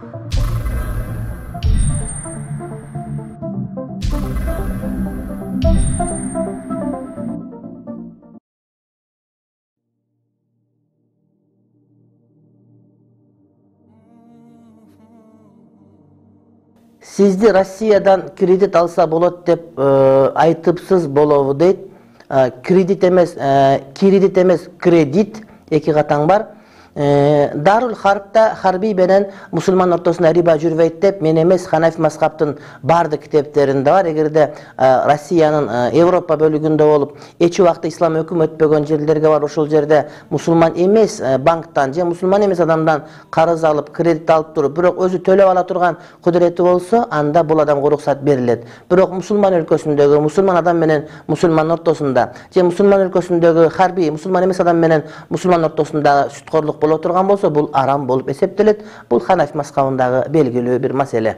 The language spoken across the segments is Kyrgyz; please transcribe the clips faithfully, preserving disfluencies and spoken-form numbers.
Сизди Россиядан кредит алса болот деп айтыпсыз болобу дейт. Кредит эмес, кредит эмес, кредит эки катаң бар. Дарул Харбта харбий менен мусулман ортосунда риба жүрбөйт деп мен эмес Ханафи мазхабтын бардык китептеринде бар. Эгерде Россиянын Европа бөлүгүндө болуп эч убакта ислам өкүм өтпөгөн жерлерге бар, ошол жерде мусулман эмес банктан же мусулман эмес адамдан карыз алып, кредит алып туруп, бирок өзү төлөп ала турган кудурети болсо, анда бул адамга уруксат берилет. Бирок мусулман өлкөсүндөгү мусулман адам менен мусулман ортосунда же мусулман өлкөсүндөгү харбий мусулман эмес адам менен мусулман ортосунда сүткорлук боло турган болсо, бул арам болуп эсептелет. Бул Ханафи мазхабындагы белгилүү бир маселе.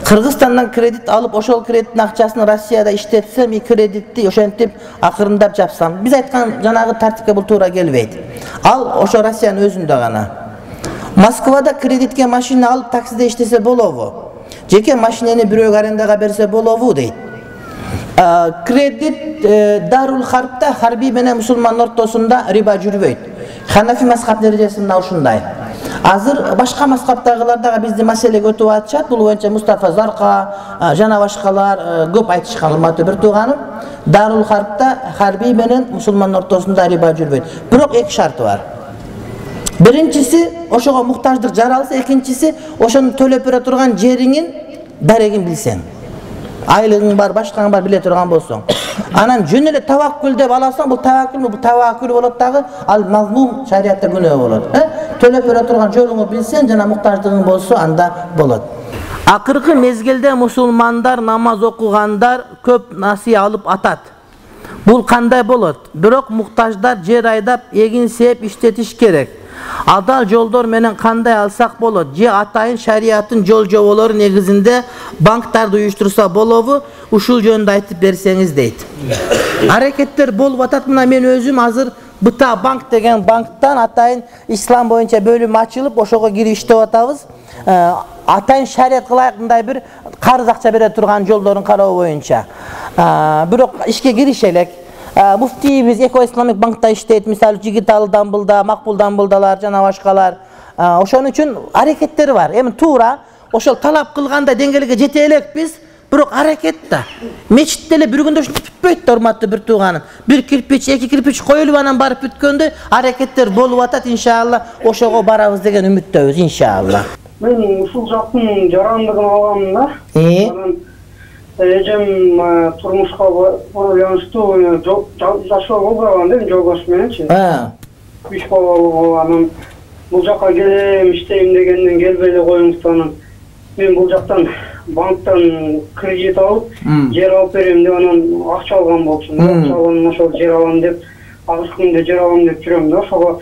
Кыргызстандан кредит алып, ошол кредиттин акчасын Россияда иштетсем, и кредитти ошентип акырындап жапсам, биз айткан жанагы тартипке бул туура келбейт. Ал ошо Россиянын өзүндө гана. Москвада кредитке машина алып таксиде иштесе болобу? Жеке машинени бирөөгө арендага берсе болобу дейт. Кредит Дарул Харбта харбий менен мусулман ортосунда риба жүрбөйт. Ханафи мазхаб дережесинде ушундай. Азыр башка мазхабтагылар дагы бизди маселеге өтүп атышат. Бул боюнча Мустафа Зарка жана башкалар көп айтышкан, урматтуу бир тууганым. Дарул Харбта харбий менен мусулман ортосунда риба жүрбөйт. Бирок эки шарты бар. Биринчиси ошого муктаждык жаралса, экинчиси ошону төлөп бере турган жериңин дарегин билсең. Айлыгың бар, башкаң бар, биле турган болсоң. Анан жөн эле таваккул деп аласаң, бул таваккул, бул таваккул болот дагы, ал мазмум шариатта күнөө болот. Төлөп бере турган жолуңду билсең жана муктаждыгың болсо, анда болот. Акыркы мезгилде мусулмандар намаз окугандар көп насыя алып атат. Бул кандай болот? Бирок муктаждар жер айдап, эгин сээп иштетиш керек. Адал жолдор менен кандай алсак болот? Же атайын шариаттын жол жоболору негизинде банктарды уюштурса болобу? Ушул жөнүндө айтып берсеңиз дейт. Аракеттер болуп атат. Мына мен өзүм азыр Быта банк деген банктан атайын ислам боюнча бөлүм ачылып, ошого кирип иштеп атабыз. Атайын шарият кылайкындай бир карыз акча бере турган жолдорун кароо боюнча. Бирок ишке кириш элек. Муфтийбиз Эко Исламик банкта иштейт, мисалы Жигиталы Дамбылда, Макбул Дамбылдалар жана башкалар. Ошон үчүн аракеттери бар. Эми туура ошол талап кылгандай деңгээлге жете элекпиз. Бирок аракет да. Мечитте эле бир күндө ушинтип бүтпөйт да, урматтуу бир тууганым. Бир кирпич, эки кирпич коюлуп анан барып бүткөндө аракеттер болуп атат, иншалла. Ошого барабыз деген үмүттөбүз, иншалла. Мен ушул жактын жарандыгын алгам да. Эжем турмушка байланыштуу жашоо болбогон да, жолдош мененчи. Үч балалуу, анан бул жака келем, иштейм дегенден келбей эле коюңуздан. Мен бул жактан банктан кредит алып, жер алып берем деп анан акча алган болчумун. Акча алган ошол жер алам деп, азыркы күндө жер алам деп жүрөм да. Ошого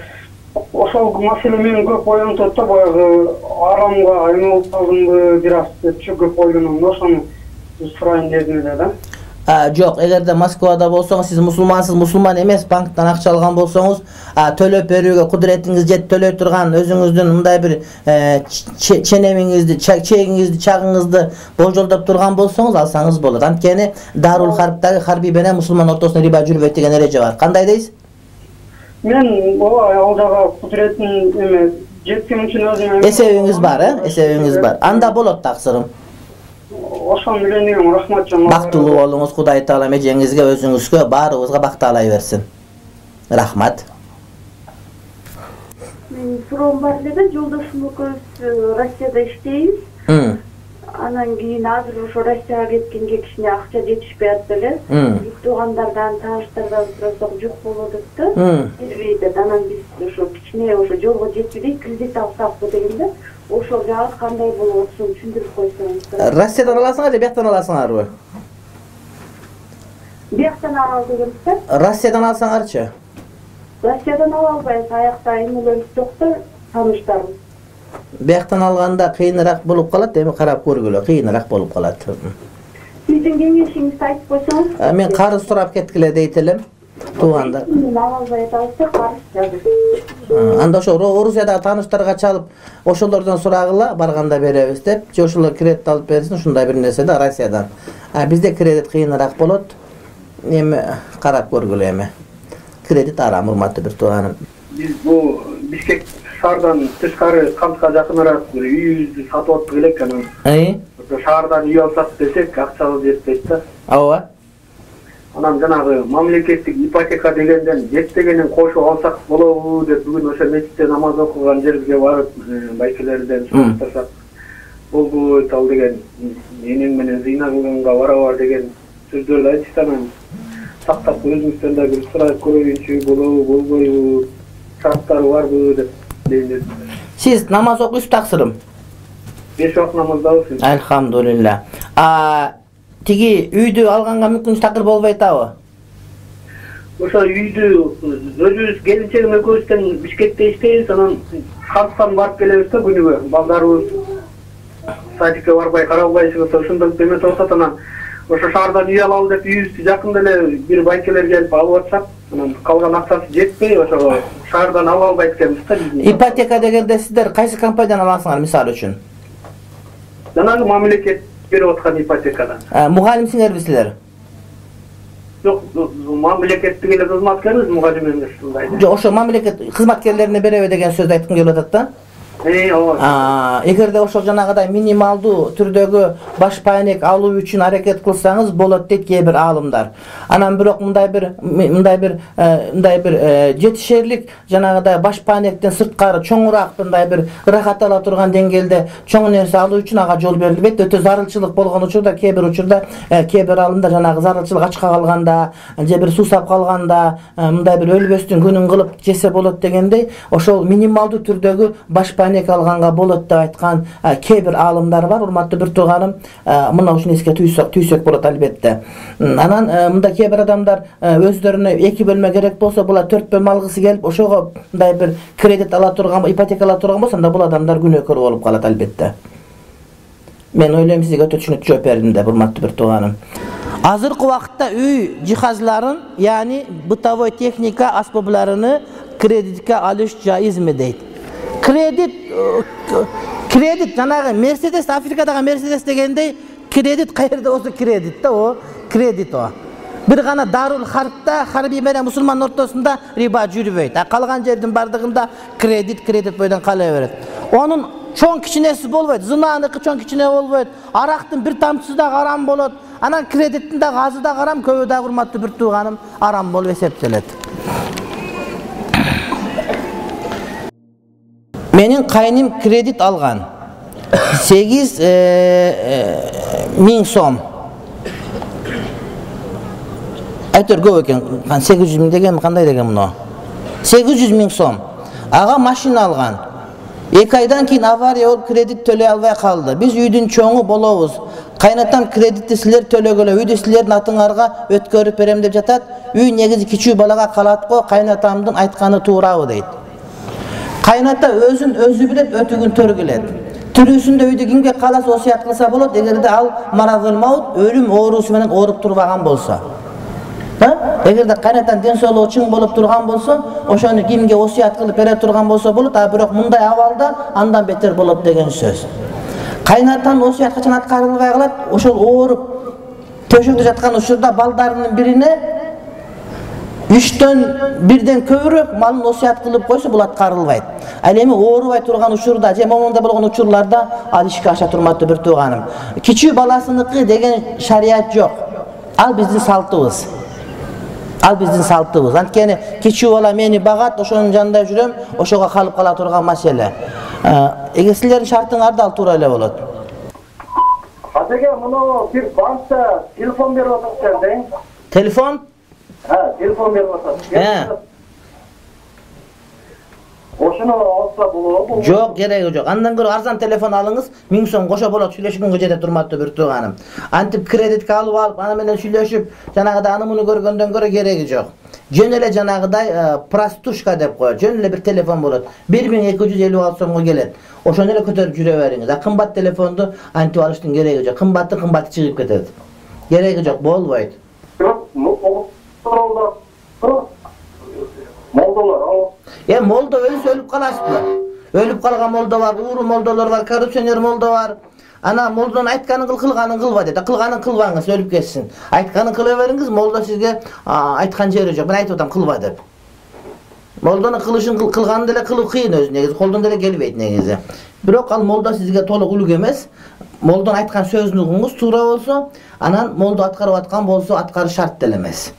ошол маселе мени көп ойлонтот да, баягы арамга айналып калдымбы бир аз деп көп ойлоном да, ошону сурайын дедим эле да. Жок, эгерде Москвада болсоңуз, сиз мусулмансыз, мусулман эмес, банктан акча алган болсоңуз, төлөп берүүгө кудуретиңиз жет, төлөй турган өзүңүздүн мындай бир ченемиңизди, чегиңизди, чагыңызды болжолдоп турган болсоңуз, алсаңыз болот. Анткени Дарул Харбтагы харбий менен мусулман ортосунда риба жүрбөйт деген эреже бар. Кандай дейсиз? Мен ооба ал жага кудуретин эме жеткен үчүн өзүм эсебиңиз бар, э? Эсебиңиз бар. Анда болот таксырым. Ошон менен дегем, рахмат жана. Бактылуу болуңуз, Кудай Таала эжеңизге, өзүңүзгө, баарыбызга бакыт алай берсин. Рахмат. Мен суроом бар эле, жолдошум экөөбүз Россияда иштейбиз. Анан кийин азыр ошо Россияга кеткенге кичине акча жетишпей атты эле. Туугандардан, тааныштардан сурасак жок болуп атат. Бербейт. Анан биз ошо кичине ошо жолго жетпей кредит алсакпы дегенде, ошол жагы кандай болуп атышын түшүндүрүп койсоңуз. Россиядан аласыңар же бияктан аласыңарбы? Бияктан алалы дегенсиз? Россиядан алсаңарчы? Россиядан ала албайбыз, аякта эмелерибиз жок да, тааныштарыбыз. Бияктан алганда кыйыныраак болуп калат, эми карап көргүлө, кыйыныраак болуп калат. Сиздин кеңешиңизди айтып койсоңуз? Мен карыз сурап кеткиле дейт элем. туугандар. Албай атабыз каршы. Анда ошо Орусиядагы тааныштарга чалып, ошолордон сурагыла, барганда беребиз деп, же ошолор кредит алып берсин, ушундай бир нерсе да Россиядан. А бизде кредит кыйыныраак болот. Эми карап көргүлө эми. Кредит арам, урматтуу бир тууганым. Биз бу Бишкек шаардан тышкары Камска жакыныраак бир үйүбүздү сатып аттык элек анан. Ай? Шаардан үй алсак десек, акчабыз жетпейт да. Ооба. Анан жанагы мамлекеттик ипотека дегенден жетпегенин кошуп алсак болобу деп бүгүн ошо мечитте намаз окуган жерибизге барып байкелерден сурасак болбойт ал деген энең менен зыйна кылганга барабар деген сөздөрдү айтышты. Анан тактап өзүңүздөн да бир сурап көрөйүнчү болобу болбойбу, шарттары барбы деп дейм. Сиз намаз окуйсуз таксырым? Беш убакыт намаздабыз. Алхамдулилля. А тиги үйдү алганга мүмкүнчүлүк такыр болбой атабы? Ошо үйдү өзүбүз келинчегим экөөбүздөн Бишкекте иштейбиз, анан Камскан барып келебиз да күнүгө. Балдарыбыз садикке барбай каралбайчыбыз, ошондой эметип атат. Анан ошо шаардан үй алалы деп үйүбүздү жакында эле бир байкелер келип алып атышат. Анан калган акчасы жетпей, ошо шаардан ала албайт экенбиз да. Ипотека дегенде сиздер кайсы компаниядан аласыңар, мисалы үчүн? Жанагы мамлекет берип аткан ипотекадан. Мугалимсиңерби силер? Жок, мамлекеттик эле кызматкербиз, мугалим эмес ушундай. Жок, ошо мамлекет кызматкерлерине береби деген сөздү айткым келип атат да. Э, ооба. Эгерде ошол жанагыдай минималдуу түрдөгү баш пайнек алуу үчүн аракет кылсаңыз болот дейт кээ бир аалымдар. Анан бирок мындай бир мындай бир мындай бир жетишерлик жанагыдай баш пайнектен сырткары чоңураак мындай бир ырахат ала турган деңгээлде чоң нерсе алуу үчүн ага жол берилбейт. Өтө зарылчылык болгон учурда кээ бир учурда кээ бир аалымдар жанагы зарылчылык ачка калганда же бир суусап калганда мындай бир өлбөстүн күнүн кылып жесе болот дегендей, ошол минималдуу түрдөгү баш алганга болот деп айткан кээ бир аалымдар бар. Урматтуу бир тууганым, мына ушуну эске түйсөк болот албетте. Анан мында кээ бир адамдар өздөрүнө эки бөлмө керек болсо, була төрт бөлмө алгысы келип, ошого мындай бир кредит ала турган, ипотека ала турган болсо, анда бул адамдар күнөөкөр болуп калат албетте. Мен ойлойм сизге өтө түшүнүктүү жооп бердим деп, урматтуу бир тууганым. Азыркы убакытта үй жихазларын, яғни бытовой техника аспабларыны кредитке алыш жайызмы дейт. Кредит, кредит, жанагы Мерседес, Африкадагы Мерседес дегендей, кредит кайерде болсо кредит да, о, кредит о. Бир гана Дарул Харбта, харби менен мусулман ортосунда риба жүрбөйт. А калган жердин бардыгында кредит, кредит бойдон кала берет. Онун чоң кичинеси болбойт, зынаныкы чоң кичине болбойт, арактын бир тамчысы да арам болот. Анан кредиттин да азы да арам, көбү да, урматтуу бир тууганым, арам болуп эсептелет. Менин кайным кредит алган сегиз миң сом. Айтор көп экен, сегиз жүз миң деген кандай деген муну? сегиз жүз миң сом. Ага машина алган. эки айдан кийин авария болуп кредит төлөй албай калды. Биз үйдүн чоңу болобуз. Кайнатам кредитти силер төлөгөлө, үйдү силердин атыңарга өткөрүп берем деп жатат. Үй негизи кичүү балага калат го, кайнатамдын айтканы туурабы дейт. Кайната өзүн өзү билет, өтүгүн төргүлет. Тирүүсүндө үйдү кимге каласа осуят кылса болот, эгерде ал маразыл маут өлүм оорусу менен ооруп турбаган болсо. Эгерде кайнатан ден соолугу чың болуп турган болсо, ошону кимге осуят кылып бере турган болсо болот, а бирок мындай абалда андан бетер болот деген сөз. Кайнатан осуят качан аткарылбай калат, ошол ооруп төшөктө жаткан учурда балдарынын бирине үчтөн бирден көбүрөөк малын осуят кылып койсо, бул аткарылбайт. Ал эми оорубай турган учурда же момундай болгон учурларда ал ишке аша турматтуу бир тууганым. Кичүү баласыныкы деген шарият жок. Ал биздин салтыбыз. Ал биздин салтыбыз. Анткени кичүү бала мени багат, ошонун жанында жүрөм, ошого калып кала турган маселе. Эгер силердин шартыңарда ал туура эле болот. Атеге, муну бир банкта телефон берип атат дең. Телефон? Ha, telefon berip atат. Ошону алса болобу? Жок, кереги жок. Андан көрө арзан телефон алыңыз, миң сом кошо болот, сүйлөшкөнгө жетет, урматтуу бир тууганым. Антип кредитке алып алып, аны менен сүйлөшүп, жанагыдай аны муну көргөндөн көрө кереги жок. Жөн эле жанагыдай простушка деп коет. Жөн эле бир телефон болот. бир миң эки жүз элүү алты сомго келет. Ошону эле көтөрүп жүрө бериңиз. А кымбат телефонду антип алыштын кереги жок. Кымбаты кымбаты чыгып кетет. Кереги жок, болбойт. Бирок, Эми молдо өлсө өлүп каласызбы? Өлүп калган молдо бар, ууру молдолор бар, коррупционер молдо бар. Ана молдонун айтканын кыл, кылганын кылба дейт. Кылганын кылбаңыз, өлүп кетсин. Айтканын кыла бериңиз, молдо сизге айткан жери жок. Мен айтып атам кылба деп. Молдонун кылышын кылганын деле кылуу кыйын өзү негизи, колдон деле келбейт негизи. Бирок ал молдо сизге толук үлгү эмес. Молдон айткан сөзүн угуңуз туура болсо, анан молдо аткарып аткан болсо, аткарыш шарт деле эмес.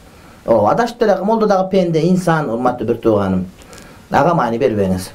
О, адашып деле молдо дагы пенде, инсан, урматтуу бир тууганым. Ага маани бербеңиз.